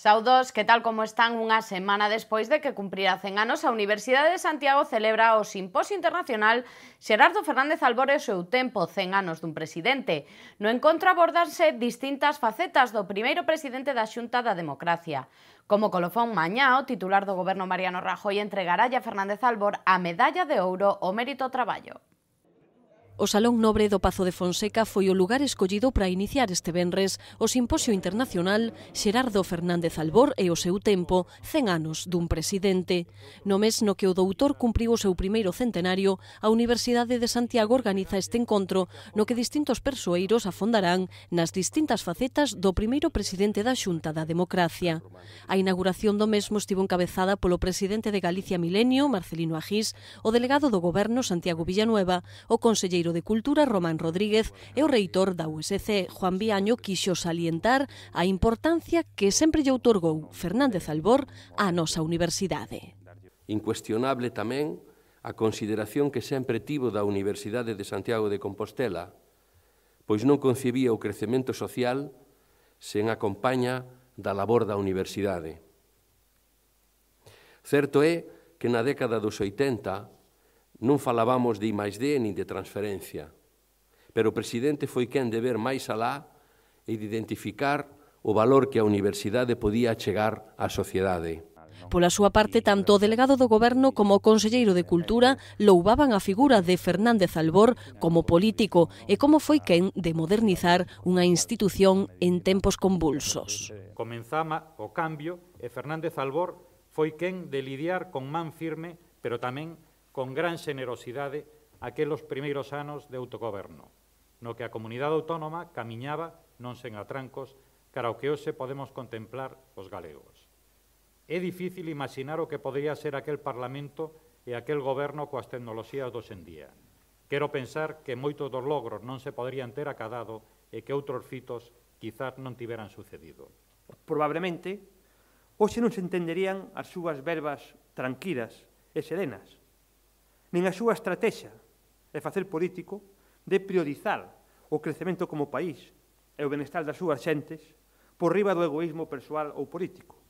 Saudos, que tal como están? Unha semana despois de que cumprira 100 anos, a Universidade de Santiago celebra o Simposio Internacional Xerardo Fernández Albor e o seu tempo, 100 anos dun presidente. No encontro abordanse distintas facetas do primeiro presidente da Xunta da Democracia. Como colofón mañá, o titular do goberno Mariano Rajoy entregará a Fernández Albor a Medalla de Ouro ao Mérito ao Traballo. O Salón Nobre do Pazo de Fonseca foi o lugar escollido para iniciar este venres o Simposio Internacional Xerardo Fernández Albor e o seu tempo, 100 anos dun presidente. No mes no que o doutor cumpriu o seu primeiro centenario, a Universidade de Santiago organiza este encontro no que distintos persoeiros afondarán nas distintas facetas do primeiro presidente da Xunta da Democracia. A inauguración do mesmo estivo encabezada polo presidente de Galicia Milenio, Marcelino Agís, o delegado do Goberno Santiago Villanueva, o conselleiro de Cultura Román Rodríguez e o reitor da USC, Juan Viaño, quixo salientar a importancia que sempre lle outorgou Fernández Albor á nosa universidade. Incuestionable tamén a consideración que sempre tivo da Universidade de Santiago de Compostela, pois non concebía o crecemento social sen a compaña da labor da universidade. Certo é que na década dos 80 non falábamos de I+D nin de transferencia, pero o presidente foi quen de ver máis alá e de identificar o valor que a universidade podía achegar á sociedade. Pola súa parte, tanto o delegado do Goberno como o conselleiro de Cultura louvaban a figura de Fernández Albor como político e como foi quen de modernizar unha institución en tempos convulsos. Comenzama o cambio e Fernández Albor foi quen de lidiar con man firme, pero tamén con gran xenerosidade aqueles primeiros anos de autogoberno, no que a comunidade autónoma camiñaba non sen atrancos cara ao que hoxe podemos contemplar os galegos. É difícil imaginar o que podría ser aquel Parlamento e aquel goberno coas tecnoloxías dos en día. Quero pensar que moitos dos logros non se poderían ter acadado e que outros fitos quizás non tiveran sucedido. Probablemente, hoxe non se entenderían as súas verbas tranquilas e serenas, nin a súa estrategia de facer político de priorizar o crecemento como país e o benestar das súas xentes por riba do egoísmo persoal ou político.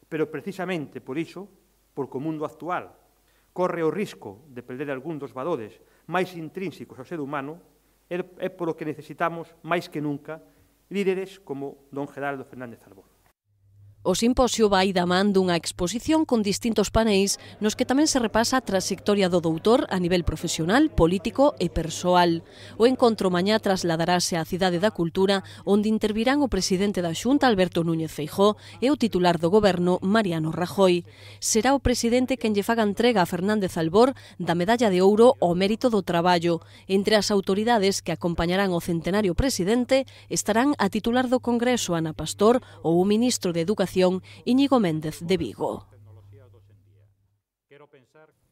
Pero precisamente por iso, porque o mundo actual corre o risco de perder algún dos valores máis intrínsecos ao ser humano, é polo que necesitamos, máis que nunca, líderes como don Xerardo Fernández Albor. O simposio vai da man dunha exposición con distintos paneis nos que tamén se repasa a trayectoria do doutor a nivel profesional, político e persoal. O encontro mañá trasladarase á Cidade da Cultura, onde intervirán o presidente da Xunta, Alberto Núñez Feijóo, e o titular do Goberno, Mariano Rajoy. Será o presidente quen lle faga entrega a Fernández Albor da Medalla de Ouro ao Mérito do Traballo. Entre as autoridades que acompañarán o centenario presidente estarán a titular do Congreso, Ana Pastor, ou o ministro de Educación, Íñigo Méndez de Vigo.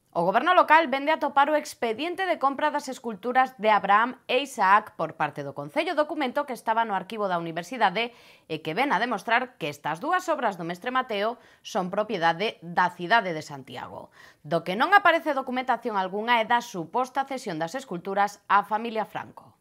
O goberno local vende a topar o expediente de compra das esculturas de Abraham e Isaac por parte do Concello, documento que estaba no arquivo da Universidade e que ven a demostrar que estas dúas obras do mestre Mateo son propiedade da cidade de Santiago. Do que non aparece documentación algunha é da suposta cesión das esculturas á familia Franco.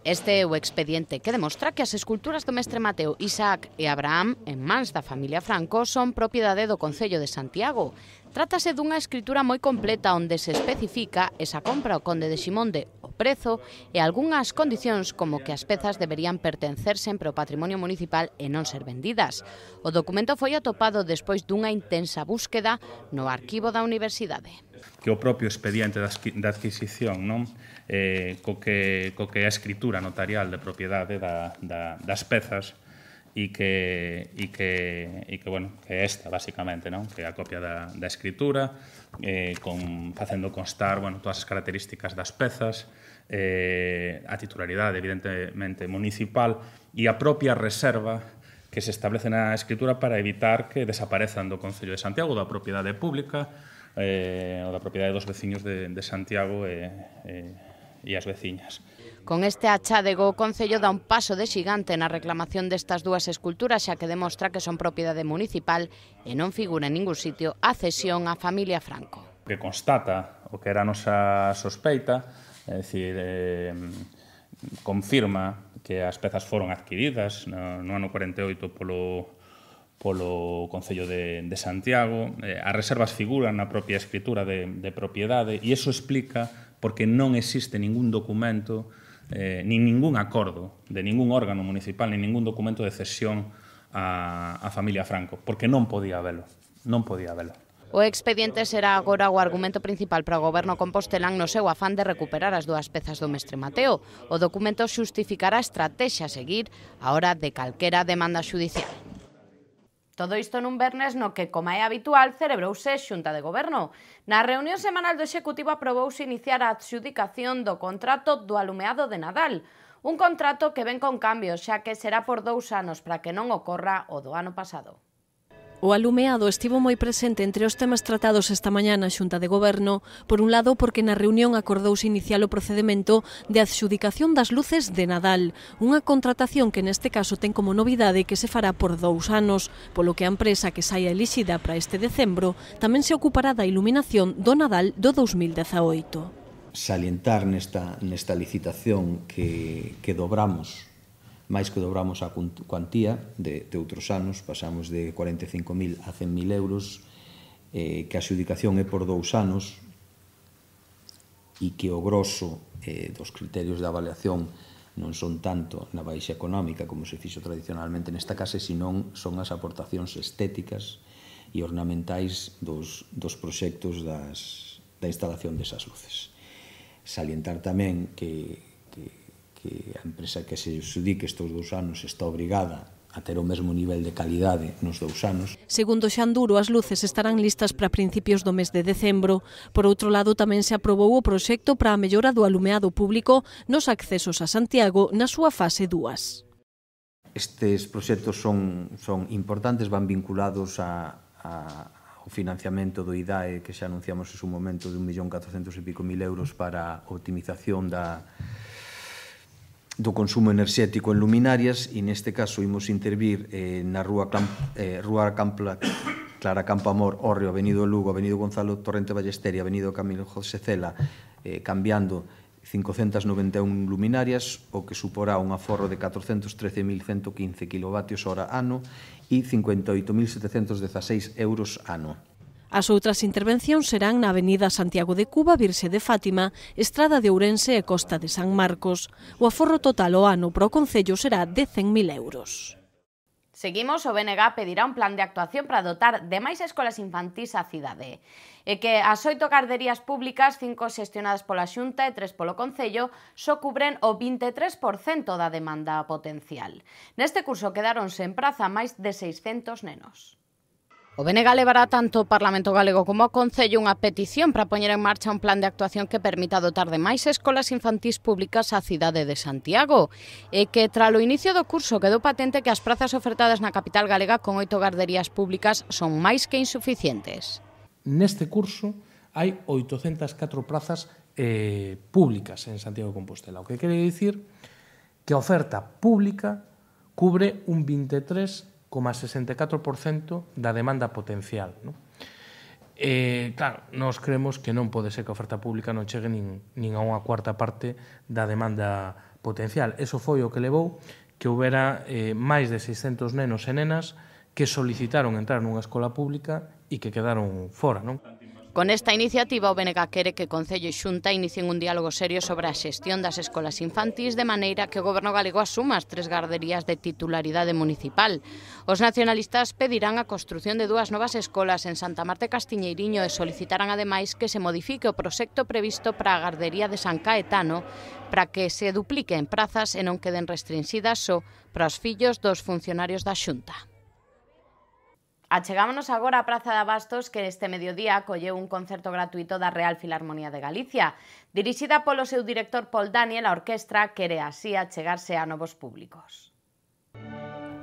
Este é o expediente que demostra que as esculturas do mestre Mateo, Isaac e Abraham, en mans da familia Franco, son propiedade do Concello de Santiago. Trátase dunha escritura moi completa onde se especifica esa compra ao conde de Ximonde, o prezo e algunhas condicións como que as pezas deberían pertencer sempre ao patrimonio municipal e non ser vendidas. O documento foi atopado despois dunha intensa búsqueda no arquivo da Universidade. Que o propio expediente da adquisición, non? Co que a escritura notarial de propiedade das pezas e que é esta, basicamente, non? Que é a copia da escritura, facendo constar todas as características das pezas, a titularidade, evidentemente, municipal e a propia reserva que se establece na escritura para evitar que desaparezan do Concello de Santiago, da propiedade pública, ou da propiedade dos veciños de Santiago e as veciñas. Con este achádego, o Concello dá un paso de xigante na reclamación destas dúas esculturas, xa que demostra que son propiedade municipal e non figura en ningún sitio a cesión á familia Franco. Que constata o que era a nosa sospeita, é dicir, confirma que as pezas foron adquiridas no ano 48 polo polo Concello de Santiago. As reservas figuran na propia escritura de propiedade e iso explica porque non existe ningún documento nin ningún acordo de ningún órgano municipal, nin ningún documento de cesión á familia Franco, porque non podía velo. O expediente será agora o argumento principal para o goberno compostelán no seu afán de recuperar as dúas pezas do mestre Mateo. O documento xustificará a estrategia a seguir a hora de calquera demanda xudicial. Todo isto nun vernes no que, como é habitual, celebrouse xunta de goberno. Na reunión semanal do Executivo aprobouse iniciar a adxudicación do contrato do alumeado de Nadal. Un contrato que ven con cambios, xa que será por 2 anos para que non ocorra o do ano pasado. O alumeado estivo moi presente entre os temas tratados esta mañá na Xunta de Goberno, por un lado porque na reunión acordouse iniciar o procedemento de adxudicación das luces de Nadal, unha contratación que neste caso ten como novidade que se fará por 2 anos, polo que a empresa que saia elixida para este decembro tamén se ocupará da iluminación do Nadal do 2018. Salientar nesta licitación que dobramos, máis que dobramos a cuantía de outros anos, pasamos de 45.000 a 100.000 euros, que a adxudicación é por 2 anos e que o grosso dos criterios de avaliación non son tanto na baixa económica como se fixo tradicionalmente nesta casa, senón son as aportacións estéticas e ornamentais dos proxectos da instalación desas luces. Salientar tamén que a empresa que se adxudique estes 2 anos está obrigada a ter o mesmo nivel de calidade nos 2 anos. Segundo Xanduro, as luces estarán listas para principios do mes de decembro. Por outro lado, tamén se aprobou o proxecto para a mellora do alumeado público nos accesos a Santiago na súa fase 2. Estes proxectos son importantes, van vinculados ao financiamento do IDAE que xa anunciamos en su momento de 1.400.000 e pico euros para a optimización do consumo enerxético en luminarias e neste caso imos intervir na Rúa Clara Campoamor, Hórreo, Avenido Lugo, Avenido Gonzalo Torrente Ballester e Avenido Camilo José Cela, cambiando 591 luminarias, o que suporá un aforro de 413.115 kWh ano e 58.716 euros ano. As outras intervencións serán na Avenida Santiago de Cuba, Virxe de Fátima, Estrada de Ourense e Costa de San Marcos. O aforro total ao ano para o Concello será de 100.000 euros. Seguimos, o BNG pedirá un plan de actuación para dotar de máis escolas infantís á cidade. E que as 8 garderías públicas, 5 xestionadas pola Xunta e 3 polo Concello, só cubren o 23% da demanda potencial. Neste curso quedaron sen praza máis de 600 nenos. O BNG levará tanto o Parlamento Galego como o Concello unha petición para poñer en marcha un plan de actuación que permita dotar de máis escolas infantís públicas á cidade de Santiago e que, tralo inicio do curso, quedou patente que as prazas ofertadas na capital galega con 8 garderías públicas son máis que insuficientes. Neste curso hai 804 plazas públicas en Santiago de Compostela, o que quere dicir que a oferta pública cubre un 23,64% da demanda potencial. Claro, nós creemos que non pode ser que a oferta pública non chegue nin a unha cuarta parte da demanda potencial. Eso foi o que levou que houbera máis de 600 nenos e nenas que solicitaron entrar nunha escola pública e que quedaron fora, non? Con esta iniciativa, o BNG quere que Concello e Xunta inicien un diálogo serio sobre a xestión das escolas infantís de maneira que o Goberno galego asuma as 3 garderías de titularidade municipal. Os nacionalistas pedirán a construción de 2 novas escolas en Santa Marta e Castiñeiriño e solicitarán ademais que se modifique o proxecto previsto para a gardería de San Caetano para que se dupliquen prazas e non queden restrinxidas só para os fillos dos funcionarios da Xunta. Achegámonos agora á Praza de Abastos, que este mediodía acolleu un concerto gratuito da Real Filarmonía de Galicia. Dirixida polo seu director Paul Daniel, a orquestra quere así achegarse a novos públicos.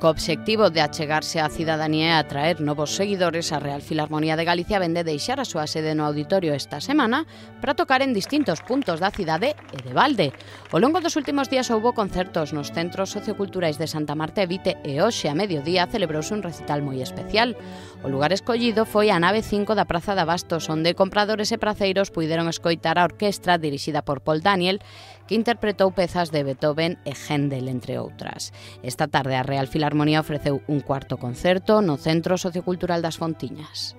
Co obxectivo de achegarse á cidadanía e atraer novos seguidores, a Real Filarmonía de Galicia vende deixar a súa sede no auditorio esta semana para tocar en distintos puntos da cidade e de balde. Ao longo dos últimos días houbo concertos nos centros socioculturais de Santa Marta e Vite e hoxe a mediodía celebrouse un recital moi especial. O lugar escollido foi a nave 5 da Praza de Abastos, onde compradores e praceiros puideron escoitar a orquestra dirixida por Paul Daniel, que interpretou pezas de Beethoven e Händel, entre outras. Esta tarde a Real Filarmonía Armonía ofreceu un cuarto concerto no Centro Sociocultural das Fontiñas.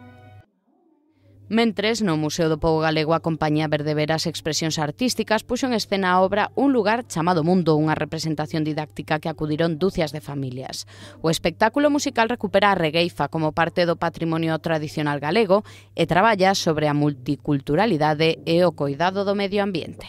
Mentres, no Museo do Pobo Galego a compañía Verdeveras Expresións Artísticas puxo en escena a obra Un lugar chamado Mundo, unha representación didáctica que acudiron dúcias de familias. O espectáculo musical recupera a regueifa como parte do patrimonio tradicional galego e traballa sobre a multiculturalidade e o coidado do medio ambiente.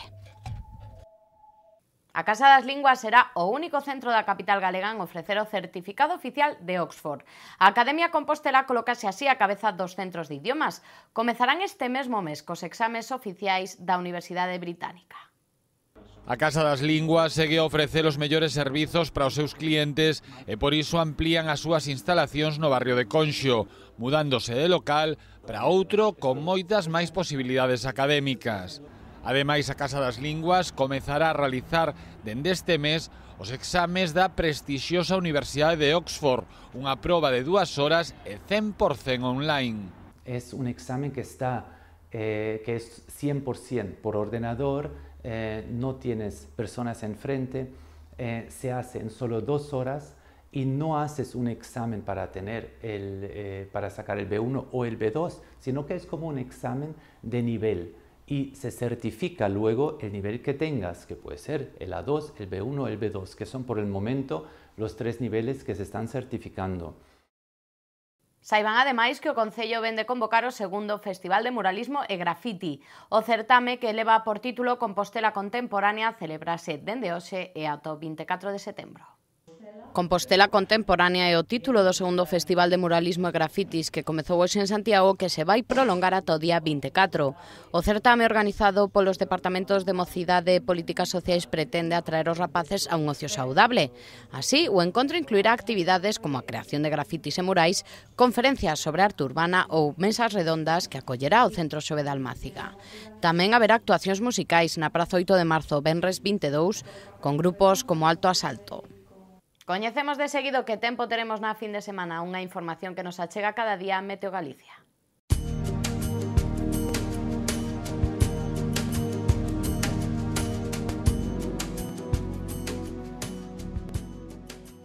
A Casa das Linguas será o único centro da capital galega en ofrecer o certificado oficial de Oxford. A Academia Compostela colócase así a cabeza dos centros de idiomas. Comezarán este mesmo mes cos exames oficiais da Universidade Británica. A Casa das Linguas segue a ofrecer os mellores servizos para os seus clientes e por iso amplían as súas instalacións no barrio de Conxo, mudándose de local para outro con moitas máis posibilidades académicas. Ademais, a Casa das Linguas comezará a realizar dende este mes os exames da prestixiosa Universidade de Oxford, unha proba de 2 horas e 100% online. Es un examen que es 100% por ordenador, no tienes personas enfrente, se hace en solo 2 horas y no haces un examen para sacar el B1 o el B2, sino que es como un examen de nivel. Y se certifica luego el nivel que tengas, que puede ser el A2, el B1 o el B2, que son por el momento los 3 niveles que se están certificando. Saiban ademais que o Concello vende convocar o segundo Festival de Muralismo e Graffiti. O certame que leva por título Compostela Contemporánea celebrase dende hoxe e ata o 24 de setembro. Compostela Contemporánea é o título do segundo Festival de Muralismo e Grafitis que comezou hoxe en Santiago que se vai prolongar ata o día 24. O certame organizado polos Departamentos de Mocidade e Políticas Sociais pretende atraer os rapaces a un ocio saudable. Así, o encontro incluirá actividades como a creación de grafitis e murais, conferencias sobre arte urbana ou mesas redondas que acollerá o Centro Xove de Almáciga. Tamén haberá actuacións musicais na Praza 8 de Marzo, venres 22, con grupos como Alto Asalto. Coñecemos de seguido que tempo teremos na fin de semana, unha información que nos achega cada día Meteo Galicia.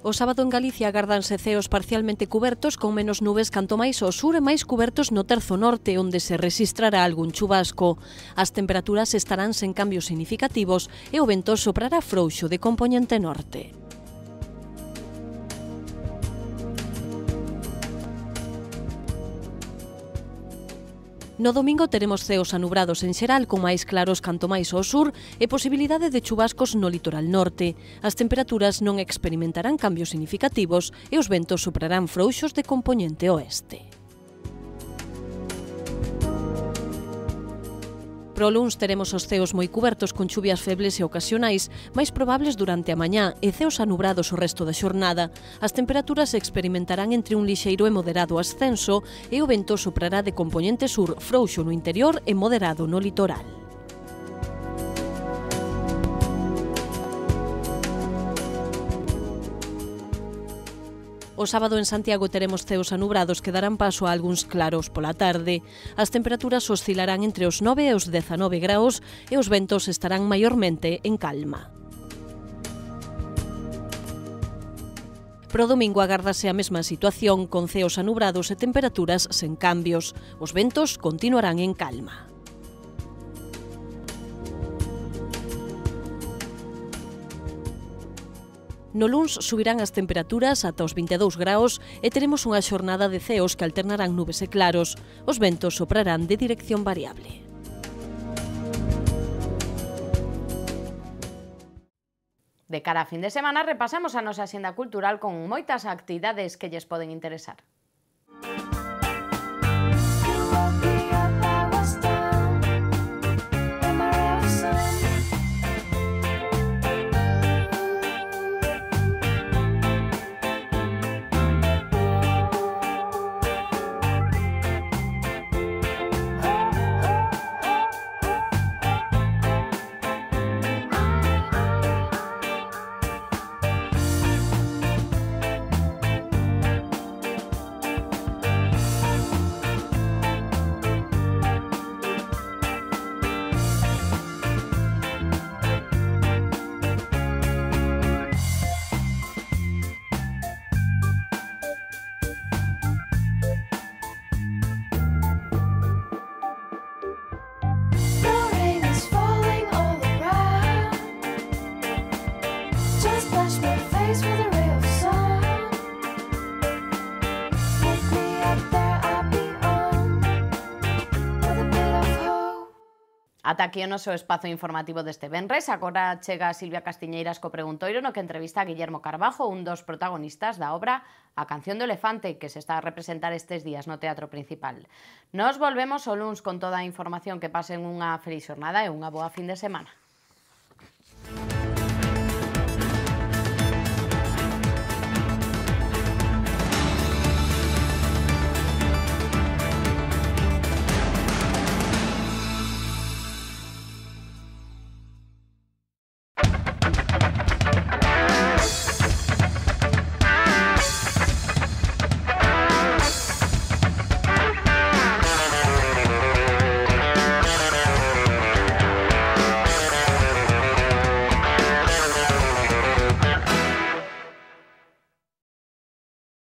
O sábado en Galicia agardanse ceos parcialmente cubertos con menos nubes canto máis ao sur e máis cubertos no terzo norte, onde se rexistrará algún chubasco. As temperaturas estarán sen cambios significativos e o vento soprará frouxo de compoñente norte. No domingo teremos ceos anubrados en xeral con máis claros canto máis ao sur e posibilidade de chubascos no litoral norte. As temperaturas non experimentarán cambios significativos e os ventos soprarán frouxos de compoñente oeste. Pro luns teremos os ceos moi cubertos con chuvias febles e ocasionais, máis probables durante a mañá e ceos anubrados o resto da xornada. As temperaturas experimentarán entre un lixeiro e moderado ascenso e o vento soprará de compoñente sur frouxo no interior e moderado no litoral. O sábado en Santiago teremos ceos anubrados que darán paso a algúns claros pola tarde. As temperaturas oscilarán entre os 9 e os 19 graus e os ventos estarán maiormente en calma. Pro domingo agárdase a mesma situación, con ceos anubrados e temperaturas sen cambios. Os ventos continuarán en calma. No luns subirán as temperaturas ata os 22 graus e teremos unha xornada de ceos que alternarán nubes e claros. Os ventos soprarán de dirección variable. De cara a fin de semana repasamos a nosa axenda cultural con moitas actividades que lles poden interesar. Ata aquí o noso espazo informativo deste venres. Agora chega Silvia Castiñeiras co preguntoiro no que entrevista a Guillermo Carbajo, un dos protagonistas da obra A canción do elefante, que se está a representar estes días no Teatro Principal. Nos volvemos o luns con toda a información. Que pasen unha feliz xornada e unha boa fin de semana.